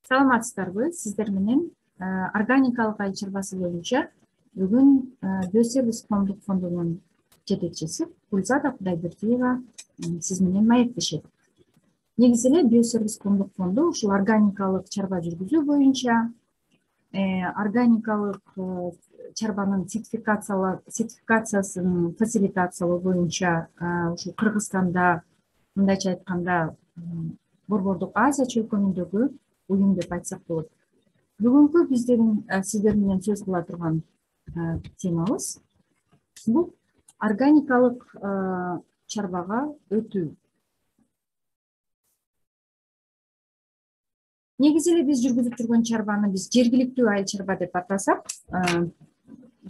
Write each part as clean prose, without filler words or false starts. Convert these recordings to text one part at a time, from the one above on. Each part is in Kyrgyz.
Саламатсыздарбы? Сиздер менен органикалык айыл чарбасы боюнча бүгүн Биосервис коомдук фондунун жетекчиси Гүлзада Кудайбердиева сиз менен маектешет. Негизи эле Биосервис коомдук фонду ушул органикалык чарба жүргүзүү боюнча органикалык чарбанын сертификациясын фасилитациялоо боюнча ушул Кыргызстанда, мындайча айтканда, Борбордук Азия чөлкөмүндөгү уюм деп айтсак болот. Бүгүнкү биздин сиздер менен сөз кыла турган темабыз бул органикалык чарбага өтүү. Негизи эле биз жүргүзүп жүргөн чарбаны биз жергиликтүү айыл чарба деп атасак,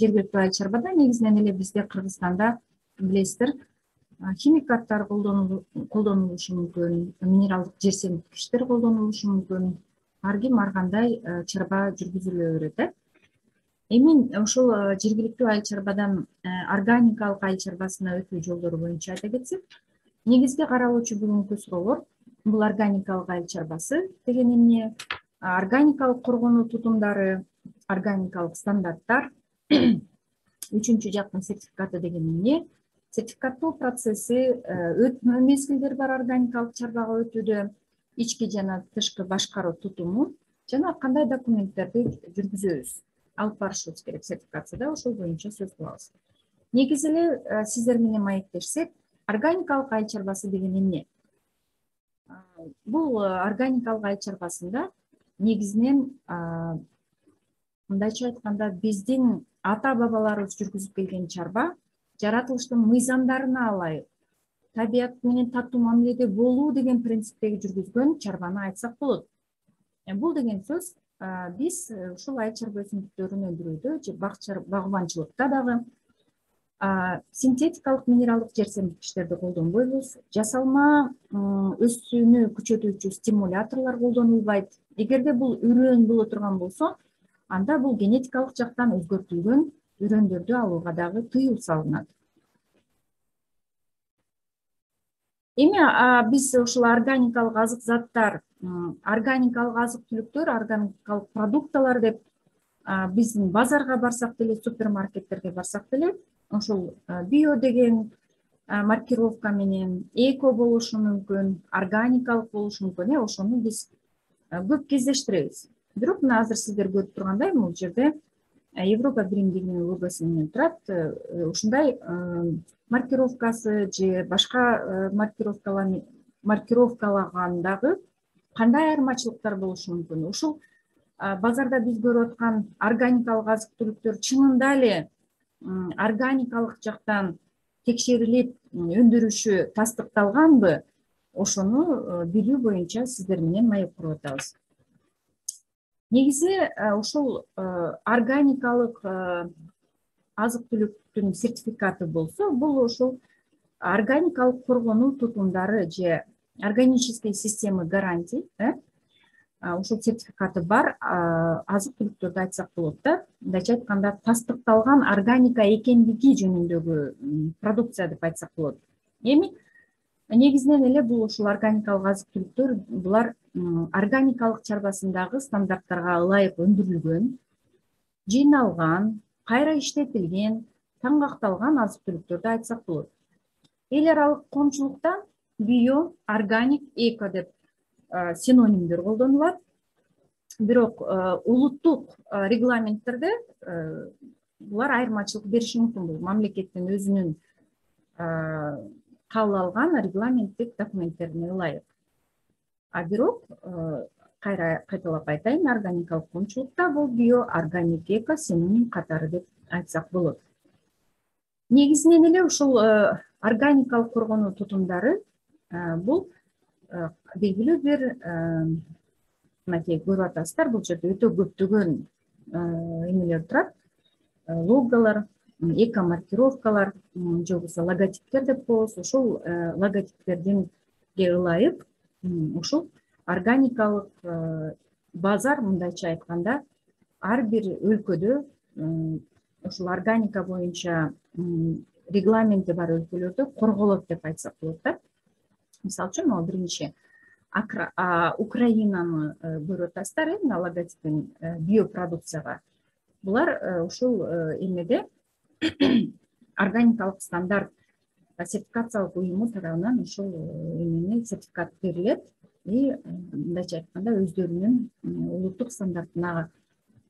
жергиликтүү айыл чарбада негизинен эле бизде Кыргызстанда билесиздер, химикаттар колдонулушу мүмкүн, минералдык жер семирткичтер колдонулушу мүмкүн. Ар ким ар кандай чарба жүргүзүлө берет. Эми ошол жергиликтүү айыл чарбадан органикалык айыл чарбасына өтүү жолдору боюнча айта кетсек, негизги каралуучу бүгүнкү суроолор бул органикалык айыл чарбасы деген эмне, органикалык коргонуу тутумдары, органикалык стандарттар, үчүнчү жактын сертификаты деген эмне, сертификаттоо процесси, өтмө мезгилдери бар органикалык чарбага өтүүдө, ички жана тышкы башкаруу тутуму жана кандай документтерди жүргүзөбүз, алып барышыбыз керек сертификацияда, ошол боюнча сөз кылабыз. Негизи эле сиздер менен маектешсек, органикалык айыл чарбасы деген эмне? Бул органикалык айыл чарбасында негизинен мындайча айтканда биздин ата бабаларыбыз жүргүзүп келген чарба жаратылыштын мыйзамдарына ылайык табият менен таттуу мамиледе болуу деген принциптеги жүргүзгөн чарбаны айтсак болот. Бул деген сөз биз ушул айыл чарба өсүмдүктөрүн өндүрүүдө же багыбанчылыкта дагы синтетикалык минералдык жер семирткичтерди колдонбойбуз, жасалма өсүүнү күчөтүүчү стимуляторлор колдонулбайт. Эгерде бул үрөөн боло турган болсо, анда бул генетикалык жактан өзгөртүлгөн үрөндөрдү алууга дагы тыюу салынат. Эми биз ушул органикалык азык заттар, органикалык азык түлүктөр, органикалык продукталар деп биздин базарга барсак деле, супермаркеттерге барсак деле, ошол био деген маркировка менен эко болушу мүмкүн, органикалык болушу мүмкүн, ошону биз көп кездештиребиз. Бирок мына азыр сиздер көрүп тургандай, бул жерде Европа биримдигинин логосу менен турат. Ушундай маркировкасы же башка маркировкалагандагы кандай айырмачылыктар болушу мүмкүн? Ушул базарда биз көрүп аткан органикалык азык түлүктөр чынында эле органикалык жактан текшерилип өндүрүшү тастыкталганбы? Ошону билүү боюнча сиздер менен маек куруп атабыз. Негизи ушул органикалык азык түлүктүн сертификаты болсо, бул ушул органикалык коргонуу тутумдары же органические системы гарантий, ушул сертификаты бар азык түлүктөрдү айтсак болот да. Мындайча айтканда, тастыкталган органика экендиги жөнүндөгү продукция деп айтсак болот. Эми негизинен эле бул ушул органикалык азык түлүктөр, булар органикалык чарбасындагы стандарттарга ылайык өндүрүлгөн, жыйналган, кайра иштетилген, таңгакталган азык түлүктөрдү айтсак болот. Эл аралык коомчулукта био, органик, эко деп синонимдер колдонулат. Бирок улуттук регламенттерде булар айырмачылык бериши мүмкүн. Бул мамлекеттин өзүнүн кабыл алган регламенттик документтерине ылайык. Бирок кайра кайталап айтайын, органикалык коомчулукта бул био, органик, эко синоним катары деп айтсак болот. Негизинен эле ушул органикалык коргонуу тутумдары бул белгилүү бир мынакей көрүп атасыздар, бул жерде өтө көптөгөн эмелер турат, логолор, эко маркировкалар, же болбосо логотиптер деп коебуз. Ошол логотиптердинге ылайык ушул органикалык базар, мындайча айтканда, ар бир өлкөдө ушул органика боюнча регламенти бар өлкөлөрдө корголот деп айтсак болот да. Мисалы үчүн, могу биринчи Украинаны көрүп атасыздар мына логотипин биопродукцияга. Булар ушул эмеде органикалык стандарт сертификациялык уюму тарабынан ушул эмени сертификат берилет и мындайча айтканда өздөрүнүн улуттук стандартына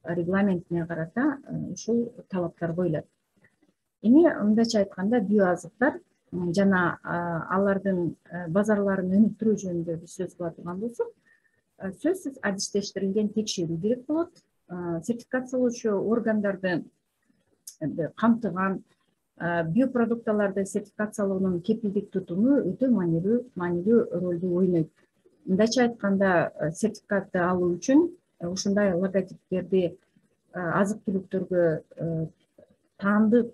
регламентине карата ушул талаптар коюлат. Эми мындайча айтканда биоазыктар жана алардын базарларын өнүктүрүү жөнүндө биз сөз кыла турган болсок, сөзсүз адистештирилген текшерүү керек болот. Сертификациялоочу органдарды камтыган биопродукталарды сертификациялоонун кепилдик тутуму өтө маанилүү ролду ойнойт. Мындайча айтканда, сертификатты алуу үчүн ушундай логотиптерди азык-түлүктөргө таандык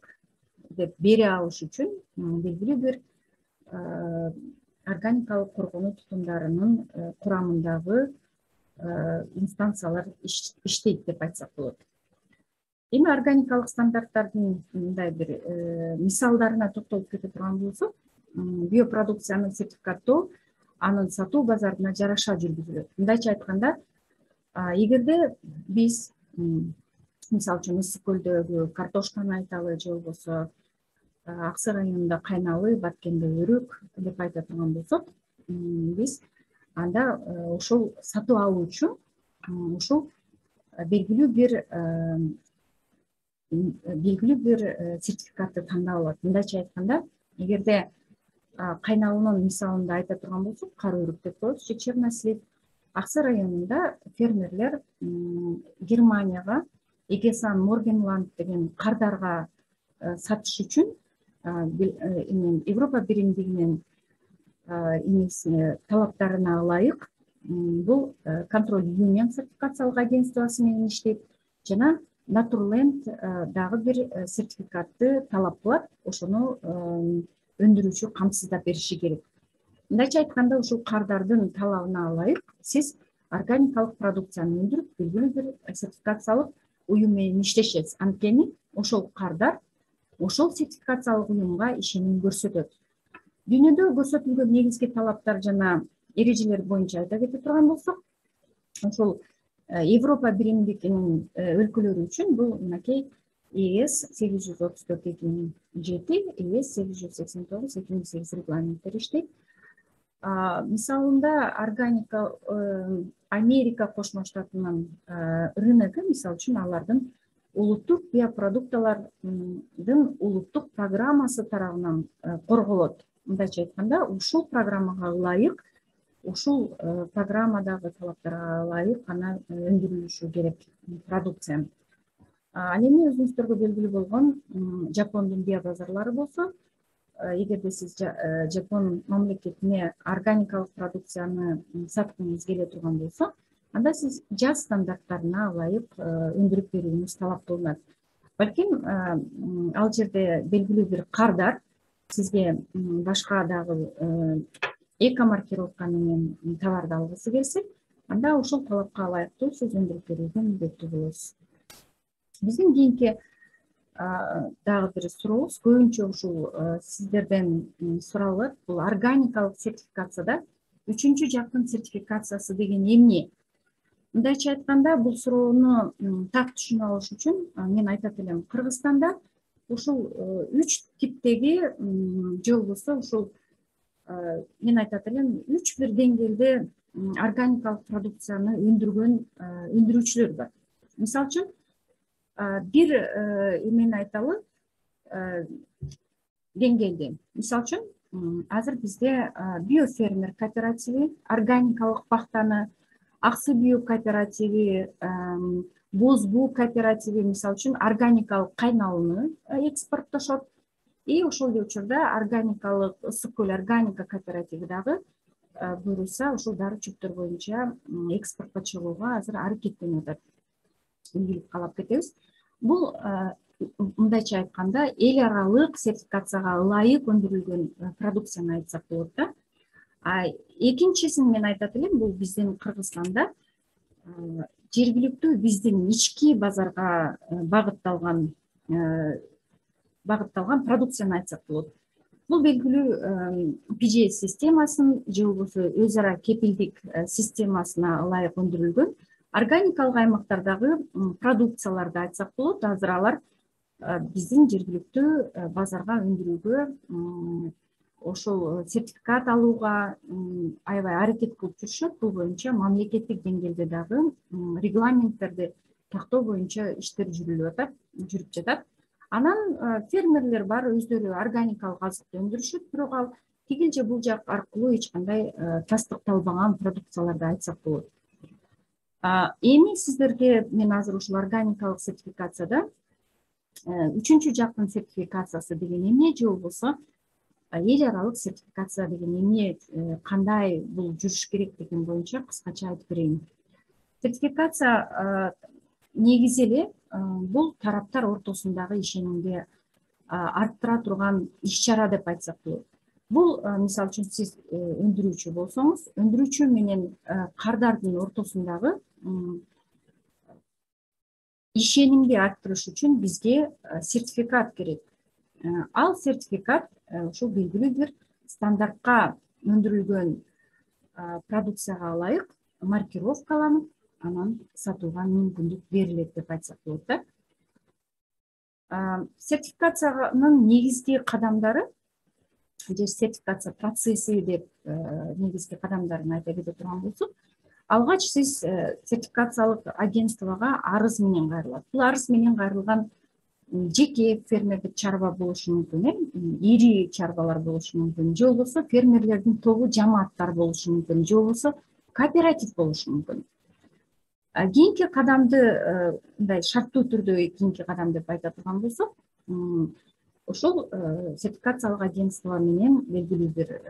деп бере алыш үчүн белгилүү бир органикалык коргонуу тутумдарынын курамындагы инстанциялар иштейт деп айтсак болот. Эми органикалык стандарттардын мындай бир мисалдарына токтолуп кете турган болсок, биопродукцияны сертификаттоо анын сатуу базарына жараша жүргүзүлөт. Мындайча айтканда, эгерде биз мисалы үчүн Ысык көлдөгү картошканы айталы, же болбосо Ак Сай районунда кайналы, Баткенде өрүк деп айта турган болсок, биз анда ошол сатып алуу үчүн ушул белгилүү бир сертификатты тандап алат. Мындайча айтканда, эгерде кайналынын мисалында айта турган болсок, кара өрүк деп коебуз, чернослив. Ак Сай районунда фермерлер Германияга Эгесан Моргенланд деген кардарга сатыш үчүн Европа биримдигинин талаптарына ылайык бул контроль юнион сертификациялык агентствосу менен иштейт жана Naturland дагы бир сертификатты талап кылат, ошону өндүрүүчү камсыздап бериши керек. Мындайча айтканда, ушул кардардын талабына ылайык сиз органикалык продукцияны өндүрүп, белгилүү бир сертификациялык уюм менен иштешесиз. Анткени ошол кардар ошол сертификациялык уюмга ишеним көрсөтөт. Дүйнөдө көрсөтүлгөн негизги талаптар жана эрежелер боюнча айта кете турган болсок, ошол Европа биримдигинин өлкөлөрү үчүн бул мынакей ЕС 834/2007, ЕС 889/2008 регламенттер иштейт. Мисалында Америка Кошмо Штатынын рыногу, мисалы үчүн, алардын улуттук биопродукталардын улуттук программасы тарабынан корголот. Мындайча айтканда, ушул программага ылайык, ушул программадагы талаптарга ылайык гана өндүрүлүшү керек продукция. Ал эми өзүңүздөргө белгилүү болгон Жапондун биобазарлары болсо, эгерде сиз Жапон мамлекетине органикалык продукцияны саткыңыз келе турган болсо, анда сиз жаз стандарттарына ылайык өндүрүп берүүңүз талап кылынат. Балким ал жерде белгилүү бир кардар сизге башка дагы эко-маркировка менен товарды алгысы келсе, анда ошол талапка ылайыктуу сиз өндүрүп берүүгө милдеттүү болосуз. Биздин кийинки дагы бир сурообуз көбүнчө ушул сиздерден суралат. Бул органикалык сертификацияда үчүнчү жактын сертификациясы деген эмне? Мындайча айтканда, бул суроону так түшүнүп алыш үчүн мен айтат элем, Кыргызстанда ушул 3 типтеги же болбосо ушул мен айтат элем 3 бир деңгээлде органикалык продукцияны өндүргөн өндүрүүчүлөр бар. Мисалы үчүн, бир эмени айталы деңгээлде. Мисалы үчүн, азыр бизде биофермер кооперативи, органикалык пахтаны, Ак Суу био кооперативи, Боз Буу кооперативи мисалы үчүн органикалык кайналыны экспорттошот. И ошол эле учурда органикалык Ысык көл органика кооперативи дагы буюрса ушул дары чөптөр боюнча экспортко чыгууга азыр аракеттенип атат. Ийгилик каалап кетебиз. Бул мындайча айтканда эл аралык сертификацияга ылайык өндүрүлгөн продукцияны айтсак болот да. Экинчисин мен айтат элем, бул биздин Кыргызстанда жергиликтүү биздин ички базарга багытталган продукцияны айтсак болот. Бул белгилүү PGS системасын же болбосо өз ара кепилдик системасына ылайык өндүрүлгөн органикалык аймактардагы продукцияларды айтсак болот. Азыр алар биздин жергиликтүү базарга өндүрүүгө ошол сертификат алууга аябай аракет кылып жүрүшөт. Бул боюнча мамлекеттик деңгээлде дагы регламенттерди тактоо боюнча иштер жүрүп жатат. Анан фермерлер бар, өздөрү органикалык азыкты өндүрүшөт, бирок ал тигил же бул жак аркылуу эч кандай тастыкталбаган продукцияларды айтсак болот. Эми сиздерге мен азыр ушул органикалык сертификацияда үчүнчү жактын сертификациясы деген эмне же болбосо эл аралык сертификация деген эмне, кандай бул жүрүш керек деген боюнча кыскача айтып берейин. Сертификация негизи эле бул тараптар ортосундагы ишенимди арттыра турган иш-чара деп айтсак болот. Бул мисалы үчүн сиз өндүрүүчү болсоңуз, өндүрүүчү менен кардардын ортосундагы ишенимди арттырыш үчүн бизге сертификат керек. Ал сертификат ушул белгилүү бир стандартка өндүрүлгөн продукцияга ылайык маркировкаланып, анан сатууга мүмкүндүк берилет деп айтсак болот да. Сертификациянын негизги кадамдары же сертификация процесси деп негизги кадамдарын айта кете турган болсок, алгач сиз сертификациялык агентствого арыз менен кайрылат. Бул арыз менен кайрылган жеке фермердик чарба болушу мүмкүн, ири чарбалар болушу мүмкүн, же болбосо фермерлердин тобу, жамааттар болушу мүмкүн, же болбосо кооператив болушу мүмкүн. Кийинки кадамды мындай шарттуу түрдө кийинки кадам деп айта турган болсок, ошол сертификациялык агентство менен белгилүү бир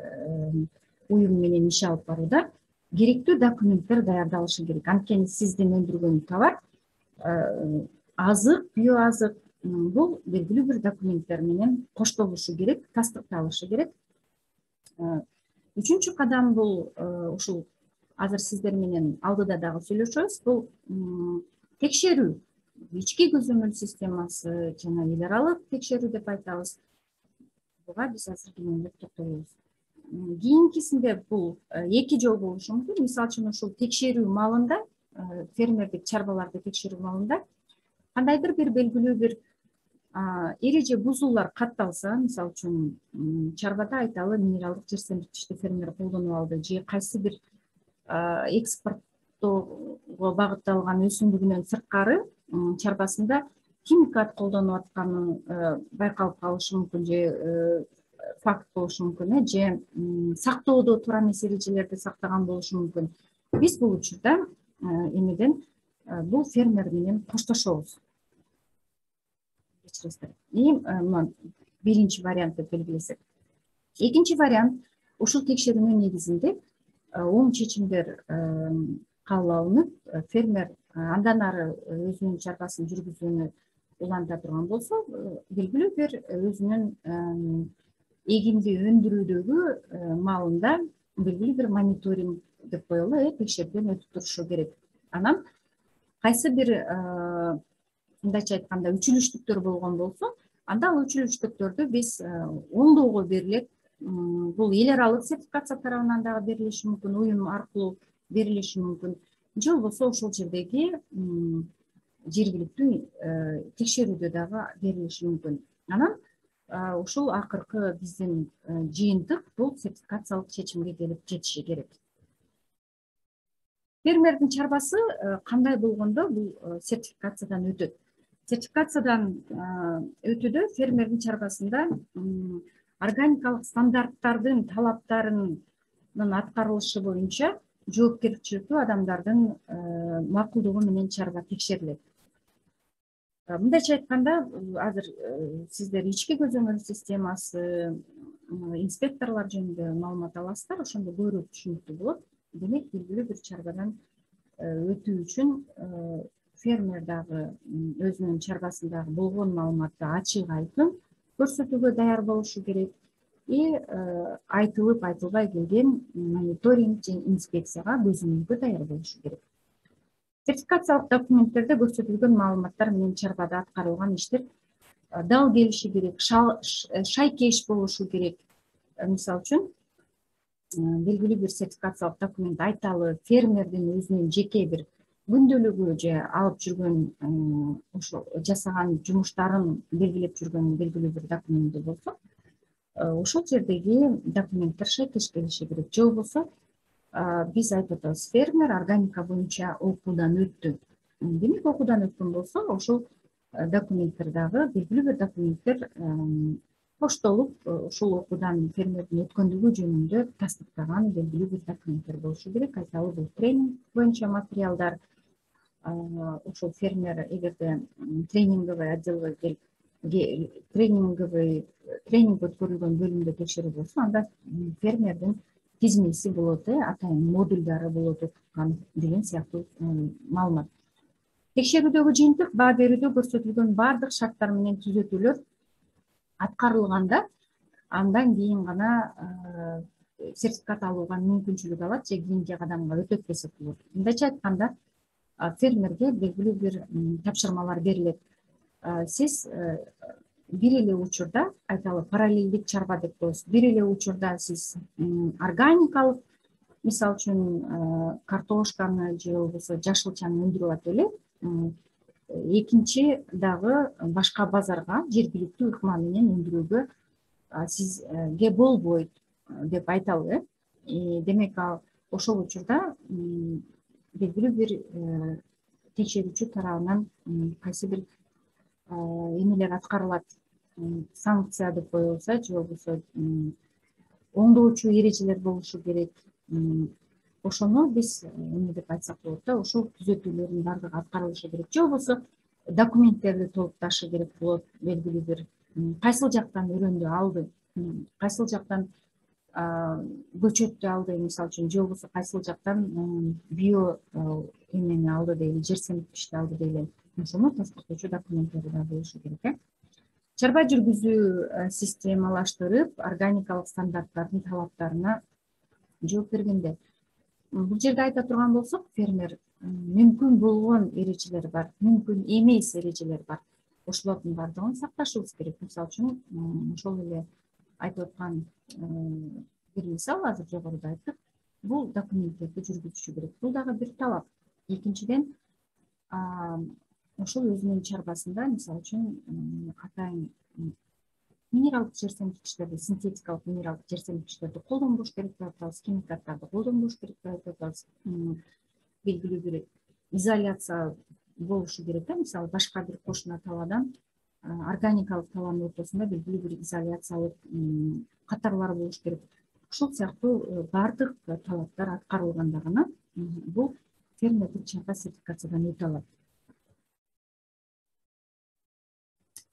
уюм менен иш алып барууда керектүү документтер даярдалышы керек. Анткени сиздин өндүргөн товар азык, био азык бул белгилүү бир документтер менен коштолушу керек, тастыкталышы керек. Үчүнчү кадам бул ушул азыр сиздер менен алдыда дагы сүйлөшөбүз. Бул текшерүү, ички көзөмөл системасы жана эл аралык текшерүү деп айтабыз. Буга биз азыр кененирээк токтолобуз. Кийинкисинде бул эки жол болушу мүмкүн. Мисалы үчүн ушул текшерүү маалында, фермердик чарбаларды текшерүү маалында кандайдыр бир белгилүү бир эреже бузуулар катталса, мисалы үчүн чарбада айталы минералдык жерсемирткичти фермер колдонуп алды же кайсы бир экспорттоого багытталган өсүмдүгүнөн сырткары чарбасында химикат колдонуп атканы байкалып калышы мүмкүн, же факт болушу мүмкүн, же сактоодо туура эмес эрежелерди сактаган болушу мүмкүн. Биз бул учурда эмеден бул фермер менен коштошобуз. Мына биринчи вариант деп белгилесек. Экинчи вариант, ушул текшерүүнүн негизинде оң чечимдер кабыл алынып, фермер андан ары өзүнүн чарбасын жүргүзүүнү уланта турган болсо, белгилүү бир өзүнүн эгинди өндүрүүдөгү маалында белгилүү бир мониторинг деп коелу, текшерүүдөн өтүп турушу керек. Анан кайсы бир мындайча айтканда үчүлүштүктөр болгон болсо, анда ал үчүлүштүктөрдү биз оңдоого берилет. Бул эл аралык сертификация тарабынан дагы берилиши мүмкүн, уюм аркылуу берилиши мүмкүн, же болбосо ошол жердеги жергиликтүү текшерүүдө дагы берилиши мүмкүн. Анан ушул акыркы биздин жыйынтык бул сертификациялык чечимге келип жетиши керек. Фермердин чарбасы кандай болгондо бул сертификациядан өтөт. Сертификациядан өтүүдө фермердин чарбасында органикалык стандарттардын талаптарынын аткарылышы боюнча жоопкерчиликтүү адамдардын макулдугу менен чарба текшерилет. Мындайча айтканда, азыр сиздер ички көзөмөл системасы, инспекторлор жөнүндө маалымат аласыздар, ошондо көбүрөөк түшүнүктүү болот. Демек, белгилүү бир чарбадан өтүү үчүн фермер дагы өзүнүн чарбасындагы болгон маалыматты ачык айкын көрсөтүүгө даяр болушу керек. Айтылып айтылбай келген мониторинг же инспекцияга көзөмөлгө даяр болушу керек. Сертификациялык документтерде көрсөтүлгөн маалыматтар менен чарбада аткарылган иштер дал келиши керек, шайкеш болушу керек. мисалы үчүн белгилүү бир сертификациялык документ айталы фермердин өзүнүн жеке бир күндөлүгү же алып жүргөн ошо жасаган жумуштарын белгилеп жүргөн белгилүү бир документи болсо, ошол жердеги документтер шайкеш келиши керек. Же болбосо биз айтып атабыз, фермер органика боюнча окуудан өттү. Демек, окуудан өткөн болсо, ошол документтер дагы белгилүү бир документтер коштолуп, ошол окуудан фермердин өткөндүгү жөнүндө тастыктаган белгилүү бир документтер болушу керек. Айталы, бул тренинг боюнча материалдар. Ошол фермер эгерде тренинговый отделге келип, тренинг өткөрүлгөн бөлүмдө текшерүү болсо, анда фермердин тизмеси болот, атайын модулдары болот окуткан деген сыяктуу маалымат. Текшерүүдөгү жыйынтык баа берүүдө көрсөтүлгөн баардык шарттар менен түзөтүүлөр аткарылганда, андан кийин гана сертификат алууга мүмкүнчүлүк алат же кийинки кадамга өтөт десек болот. Мындайча айтканда, фермерге белгилүү бир тапшырмалар берилет. Сиз бир эле учурда, айталы, параллелдик чарба деп коебуз. Бир эле учурда сиз органикалык, мисалы үчүн картошканы же болбосо жашылчаны өндүрүп атып эле, экинчи дагы башка базарга жергиликтүү ыкма менен өндүрүүгө сизге болбойт деп айталы. Демек, ошол учурда белгилүү бир текшерүүчү тарабынан кайсы бир эмелер аткарылат, санкция деп коебуз, же болбосо оңдоочу эрежелер болушу керек. Ошону биз эме деп айтсак болот да, ошол түзөтүүлөрдүн баардыгы аткарылышы керек. Же болбосо документтерди толукташы керек болот, белгилүү бир кайсыл жактан өрөндү алды, кайсыл жактан көчөттү алды, мисалы үчүн, же болбосо кайсыл жактан био эмени алды дейли, жер семирткичти алды дейли. Ошону тастыктоочу документтери да болушу керек. Чарба жүргүзүү системалаштырып, органикалык стандарттардын талаптарына жооп бергенде, бул жерде айта турган болсок, фермер мүмкүн болгон эрежелер бар, мүмкүн эмес эрежелер бар. Ошолордун баардыгын сакташыбыз керек. Мисалы үчүн, ошол эле айтып аткан бир мисал азыр жогоруда айттык, бул документтерди жүргүзүшү керек. Бул дагы бир талап. Экинчиден, ошол өзүнүн чарбасында, мисалы үчүн, атайын минералдык жер семирткичтерди, синтетикалык минералдык жер семирткичтерди колдонбош керек деп атабыз, химикаттарды колдонбош керек деп атабыз. Белгилүү бир изоляция болушу керек. Мисалы, башка бир кошуна талаадан органикалык талаанын ортосунда белгилүү бир изоляциялык катарлар болуш керек. Ушул сыяктуу баардык талаптар аткарылганда гана бул фермердик чарба сертификациядан өтө алат.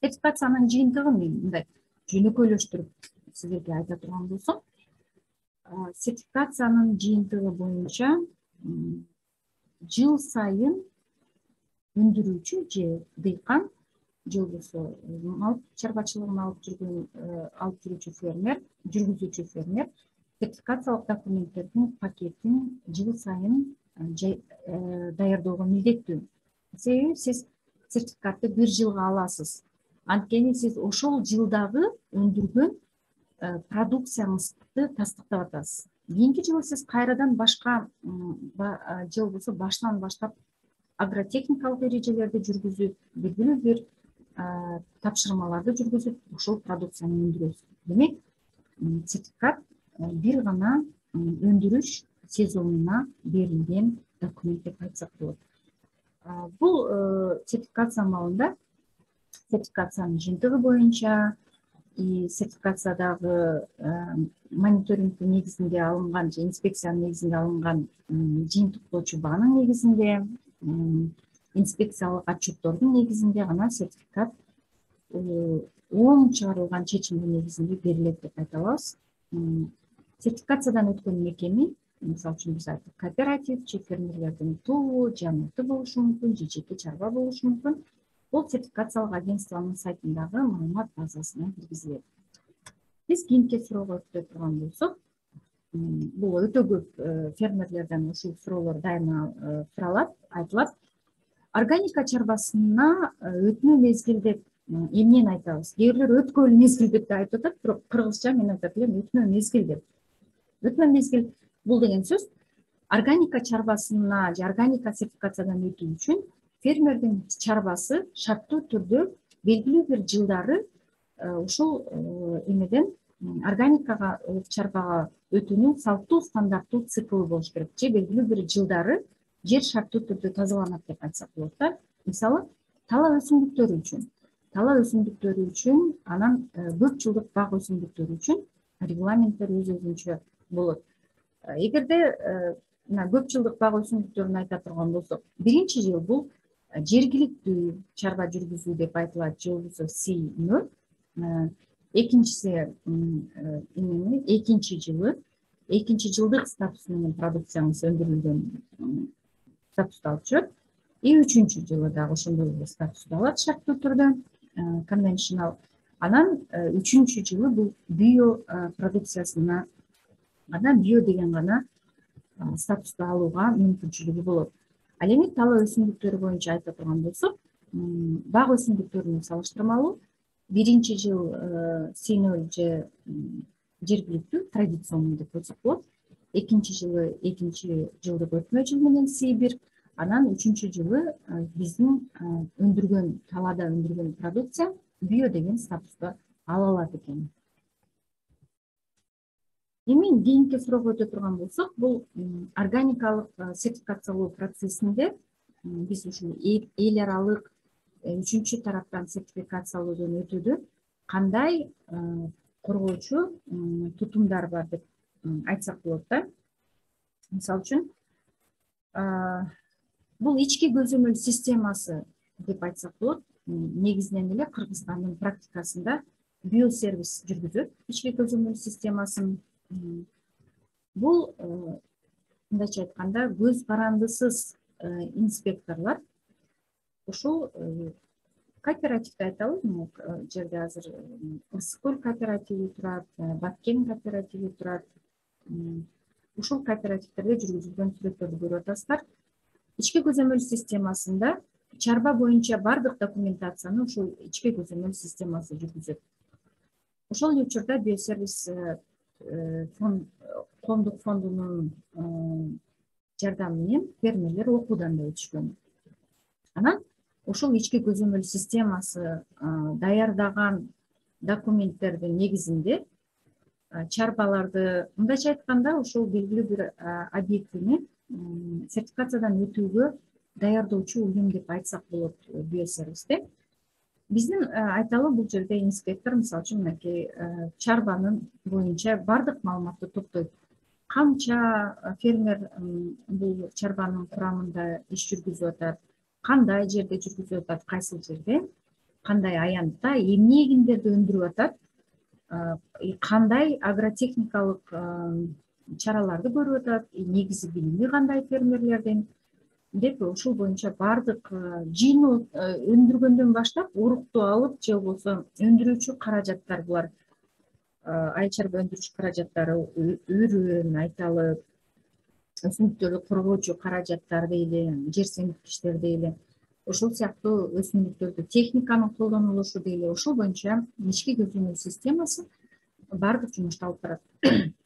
Сертификациянын жыйынтыгын мындай жөнөкөйлөштүрүп силерге айта турган болсом, сертификациянын жыйынтыгы боюнча жыл сайын өндүрүүчү же дыйкан, же болбосо мал чарбачылыгын алып жүрүүчү фермер, жүргүзүүчү фермер сертификациялык документтердин пакетин жыл сайын даярдоого милдеттүү. Себеби сиз сертификатты бир жылга аласыз. Анткени сиз ошол жылдагы өндүргөн продукцияңызды тастыктап атасыз. Кийинки жылы сиз кайрадан башка же болбосо башынан баштап агротехникалык эрежелерди жүргүзүп, белгилүү бир тапшырмаларды жүргүзүп, ошол продукцияны өндүрөсүз. Демек, сертификат бир гана өндүрүш сезонуна берилген документ деп айтсак болот. Бул сертификация маалында сертификациянын жыйынтыгы боюнча, сертификациядагы мониторингдин негизинде алынган же инспекциянын негизинде алынган жыйынтыктоочу баанын негизинде, инспекциялык отчеттордун негизинде гана сертификат оң чыгарылган чечимдин негизинде берилет деп айта алабыз. Сертификациядан өткөн мекеме, мисалы үчүн биз айттык, кооператив же фермерлердин тобу, жамгырты болушу мүмкүн, же жеке чарба болушу мүмкүн. Бул сертификациялык агентствонун сайтындагы маалымат базасына киргизилет. Биз кийинки суроого өтө турган болсок, бул өтө көп фермерлерден ушул суроолор дайыма суралат, айтылат. Органика чарбасына өтмө мезгил деп эмнени айтабыз? Кээ бирлер өткөн мезгил деп да айтып атат, бирок кыргызча мен айтат элем өтмө мезгил деп. Өтмө мезгил бул деген сөз органика чарбасына же органика сертификациядан өтүү үчүн фермердин чарбасы шарттуу түрдө белгилүү бир жылдары ушул эмеден органикага чарбага өтүүнүн салттуу стандарттуу циклы болуш керек, же белгилүү бир жылдары жер шарттуу түрдө тазаланат деп айтсак болот да. Мисалы, тала өсүмдүктөрү үчүн, анан көп жылдык бак өсүмдүктөрү үчүн регламенттер өзүнчө болот. Эгерде мына көп жылдык бак өсүмдүктөрүн айта турган болсок, биринчи жыл бул жергиликтүү чарба жүргүзүү деп айтылат, же болбосо C0. Экинчиси экинчи жылдык статус менен продукцияңыз өндүрүлгөн статусту алып жүрөт. И үчүнчү жылы дагы ошондой эле статусту алат шарттуу түрдө, конвеншнл. Анан үчүнчү жылы бул био продукциясына био деген гана статусту алууга мүмкүнчүлүгү болот. Ал эми тала өсүмдүктөрү боюнча айта турган болсок, бак өсүмдүктөрүнүн салыштырмалуу биринчи жыл C0 же жергиликтүү традиционный деп койсок болот. Экинчи жылы экинчи жылдык өтмө жыл менен C1, анан үчүнчү жылы биздин талада өндүргөн продукция био деген статусту ала алат экен. Эми кийинки суроого өтө турган болсок, бул органикалык сертификациялоо процессинде биз ушул эл аралык үчүнчү тараптан сертификациялоодон өтүүдө кандай коргоочу тутумдар бар деп айтсак болот да. Мисалы үчүн, бул ички көзөмөл системасы деп айтсак болот. Негизинен эле Кыргызстандын практикасында биосервис жүргүзөт ички көзөмөл системасын. Бул мындайча айтканда көз карандысыз инспекторлор ушул кооперативди айталы, жерде азыр Ысык-Көл кооперативи турат, Баткен кооперативи турат. Ушул кооперативдерде жүргүзүлгөн сүрөттөрдү көрүп атасыздар. Ички көзөмөл системасында чарба боюнча бардык документацияны ушул ички көзөмөл системасы жүргүзөт. Ошол эле учурда биосервис коомдук фондунун жардамы менен фермерлер окуудан да өтүшкөн. Анан ушул ички көзөмөл системасы даярдаган документтердин негизинде чарбаларды, мындайча айтканда, ушул белгилүү бир объектини сертификациядан өтүүгө даярдоочу уюм деп айтсак болот биосервисте. Биздин айталы бул жерде инспектор, мисалы үчүн, мынакей чарбанын боюнча бардык маалыматты топтойт. Канча фермер бул чарбанын курамында иш жүргүзүп атат, кандай жерде жүргүзүп атат, кайсыл жерде, кандай аянтта, эмне эгиндерди өндүрүп атат, кандай агротехникалык чараларды көрүп атат, негизи билими кандай фермерлердин деп ушул боюнча бардык жыйноо өндүргөндөн баштап урукту алып, же болбосо өндүрүүчү каражаттар, булар айыл чарба өндүрүүчү каражаттары, өрөөн айталы, өсүмдүктөрдү коргоочу каражаттар дейли, жер семирткичтер дейли, ошол сыяктуу өсүмдүктөрдү техниканын колдонулушу дейли, ошол боюнча ички көзөмөл системасы бардык жумушту алып барат.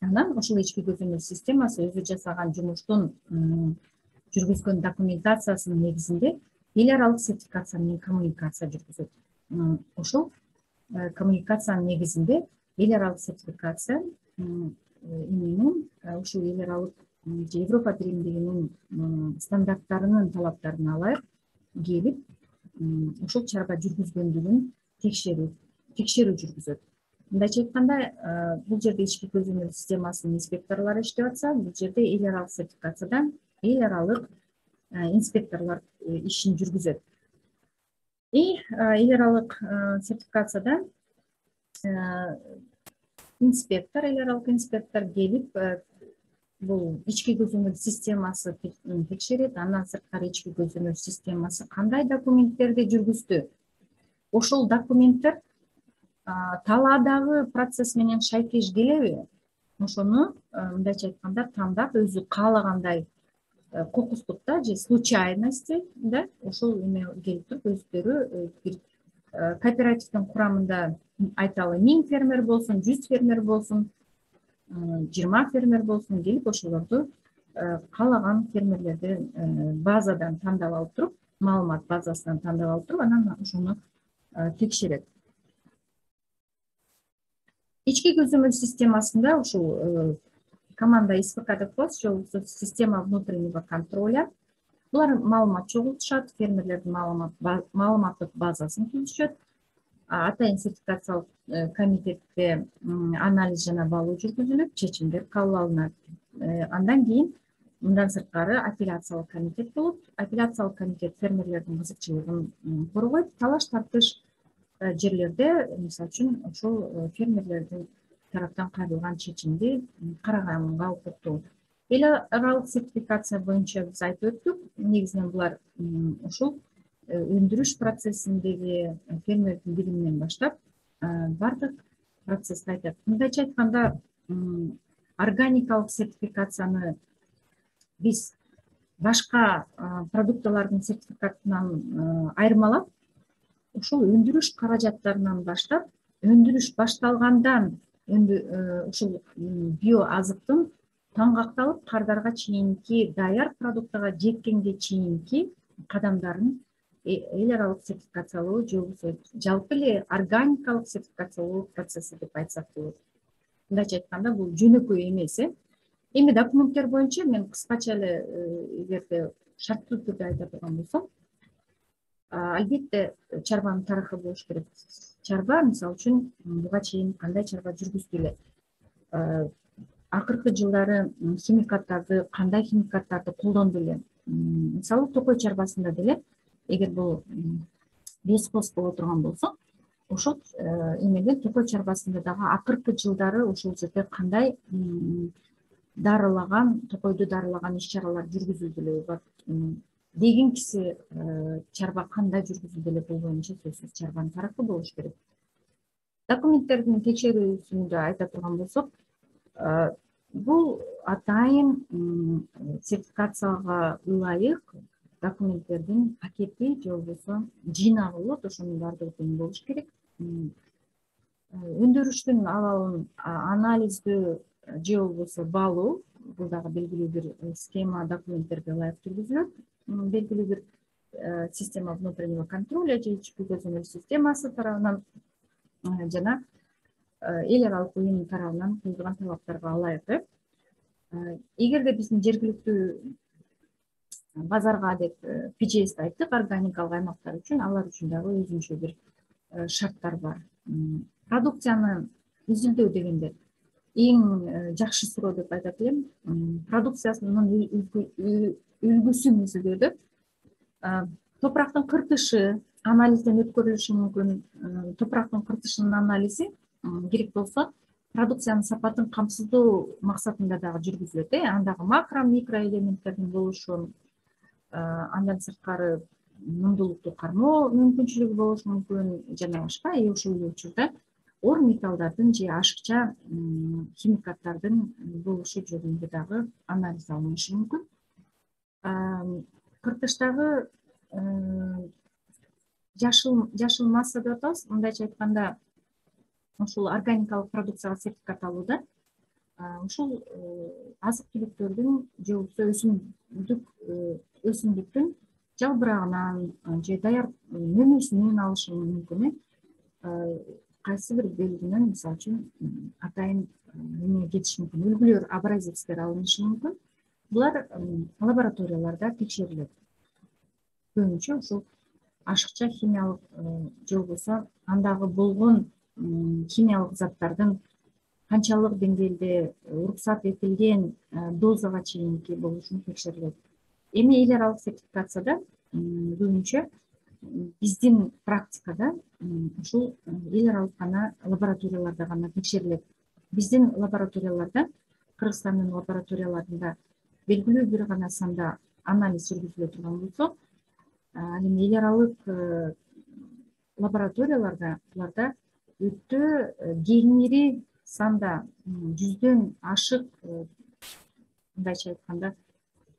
Анан ошол ички көзөмөл системасы өзү жасаган жумуштун жүргүзгөн документациясынын негизинде эл аралык сертификация менен коммуникация жүргүзөт. Ошол коммуникациянын негизинде эл аралык сертификация менен ушул эл аралык же Европа биримдигинин стандарттарынын талаптарына ылайык келип, ушул чарба жүргүзгөндүгүн текшерүү жүргүзөт. Мындайча айтканда, бул жерде ички көзөмөл системасынын инспекторлору иштеп атса, бул жерде эл аралык сертификациядан эл аралык инспекторлор ишин жүргүзөт. Эл аралык сертификацияда эл аралык инспектор келип, бул ички көзөмөл системасы текшерет. Андан сырткары ички көзөмөл системасы кандай документтерди жүргүздү, ошол документтер таладагы процесс менен шайкеш келеби, ошону мындайча айтканда тандап өзү каалагандай кокустук да же случайности да ошол эме келип туруп өздөрү бир кооперативдин курамында айталы 1000 фермер болсун, 100 фермер болсун, 20 фермер болсун, келип ошолорду каалаган фермерлерди базадан тандап алып туруп, маалымат базасынан тандап алып туруп, анан ошону текшерет. Ички көзөмөл системасында ушул команда СПК деп коебуз, же болбосо система внутреннего контроля. Булар маалымат чогултушат, фермерлердин маалыматтык базасын түзүшөт. Атайын сертификациялык комитетте анализ жана балуу жүргүзүлүп, чечимдер кабыл алынат. Андан кийин мындан сырткары апелляциялык комитет болот. Апелляциялык комитет фермерлердин кызыкчылыгын коргойт. Талаш-тартыш жерлерде, мисалы үчүн, ошол фермерлердин тараптан кайрылган чечимди караганга укуктуу. Эл аралык сертификация боюнча биз айтып өттүк. Негизинен булар ушул өндүрүш процессиндеги фермердин билиминен баштап бардык процессти айтат. Мындайча айтканда, органикалык сертификацияны биз башка продуктылардын сертификатынан айырмалап, ушул өндүрүш каражаттарынан баштап, өндүрүш башталгандан ушул био азыктын таңгакталып кардарга чейинки даяр продуктага жеткенге чейинки кадамдарын эл аралык сертификациялоо же болбосо жалпы эле органикалык сертификациялоо процесси деп айтсак болот. Мындайча айтканда, бул жөнөкөй эмес. Эми документтер боюнча мен кыскача эле эгерде шарттуу түрдө айта турган болсом, албетте чарбанын тарыхы болуш керек. Чарба, мисалы үчүн, буга чейин кандай чарба жүргүздү эле, акыркы жылдары химикаттарды, кандай химикаттарды колдонду эле. Мисалы, токой чарбасында деле, эгер бул бесхоз боло турган болсо, ошол эмеде токой чарбасында дагы акыркы жылдары ошол жерде кандай дарылаган, токойду дарылаган иш-чаралар жүргүзүлдү эле дегенкиси чарба кандай жүргүзүлдү эле, бул боюнча сөзсүз чарбанын тарыхы болуш керек. Документтердин текшерүүсүндө айта турган болсок, бул атайын сертификацияга ылайык документтердин пакети же болбосо жыйнагы болот. Ошонун баардыгы тең болуш керек. Өндүрүштүн абалын анализдөө же болбосо балуу, бул дагы белгилүү бир схема, документтерге ылайык жүргүзүлөт. Белгилүү бир система внутреннего контроля же ички көзөмөл системасы тарабынан жана эл аралык уюм тарабынан коюлган талаптарга ылайык. Эгерде биздин жергиликтүү базарга деп PGS айттык, органикалык аймактар үчүн, алар үчүн дагы өзүнчө бир шарттар бар. Продукцияны изилдөө дегенде эң жакшы суроо деп айтат элем. Продукциясынын үлгүсүн изилдөөдө топурактын кыртышы анализден өткөрүлүшү мүмкүн. Топурактын кыртышынын анализи керек болсо продукциянын сапатын камсыздоо максатында дагы жүргүзүлөт. Андагы макро, микро элементтердин болушу, андан сырткары мундулукту кармоо мүмкүнчүлүгү болушу мүмкүн жана башка. Ошол эле учурда оор металлдардын же ашыкча химикаттардын болушу жөнүндө дагы анализ алынышы мүмкүн. Кыртыштагы жашыл масса деп атабыз. Мындайча айтканда, ушул органикалык продукцияга сертификат алууда ушул азык-түлүктөрдүн же болбосо өсүмдүктүн жалбырагынан же даяр мөмөсүнөн алышы мүмкүн. Кайсы бир белгинен, мисалы үчүн, атайын эме кетиши мүмкүн, үлгүлөр, абразивдер алынышы мүмкүн. Булар лабораторияларда текшерилет. Көбүнчө ушул ашыкча химиялык же болбосо андагы болгон химиялык заттардын канчалык деңгээлде уруксат этилген дозага чейинки болушун текшерилет. Эми эл аралык сертификацияда көбүнчө биздин практикада ушул эл аралык гана лабораторияларда гана текшерилет. Биздин лабораторияларда, Кыргызстандын лабораторияларында белгилүү бир гана санда анализ жүргүзүлө турган болсо, ал эми эл аралык лабораторияларда буларда өтө кеңири санда, жүздөн ашык, мындайча айтканда,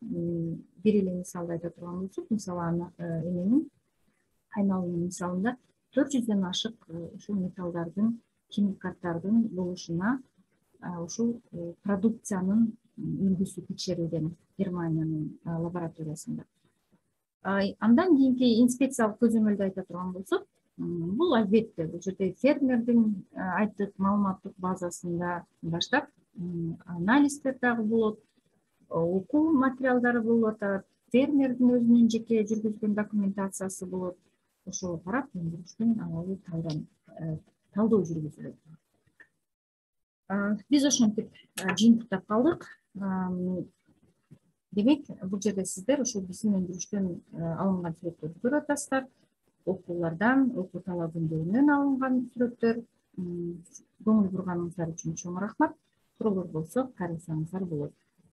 бир эле мисалды айта турган болсок, мисалы эменин кайналуунун мисалында 400дөн ашык ушул металлдардын, химикаттардын болушуна ушул продукциянын үлгүсү текшерилген Германиянын лабораториясында. Андан кийинки инспекциялык көзөмөлдү айта турган болсок, бул албетте бул жерде фермердин айттык маалыматтык базасында баштап анализдер дагы болот, окуу материалдары болуп атат, фермердин өзүнүн жеке жүргүзгөн документациясы болот. Ошого карап өндүрүштүн абалы талдоо жүргүзүлөт. Биз ошентип жыйынтыктап калдык. Демек, бул жерде сиздер ушул биздин өндүрүштөн алынган сүрөттөрдү көрүп атасыздар. Окуулардан, окуу талабындагынан алынган сүрөттөр. Көңүл бурганыңыздар үчүн чоң рахмат. Суроолор болсо кайрылсаңыздар болот.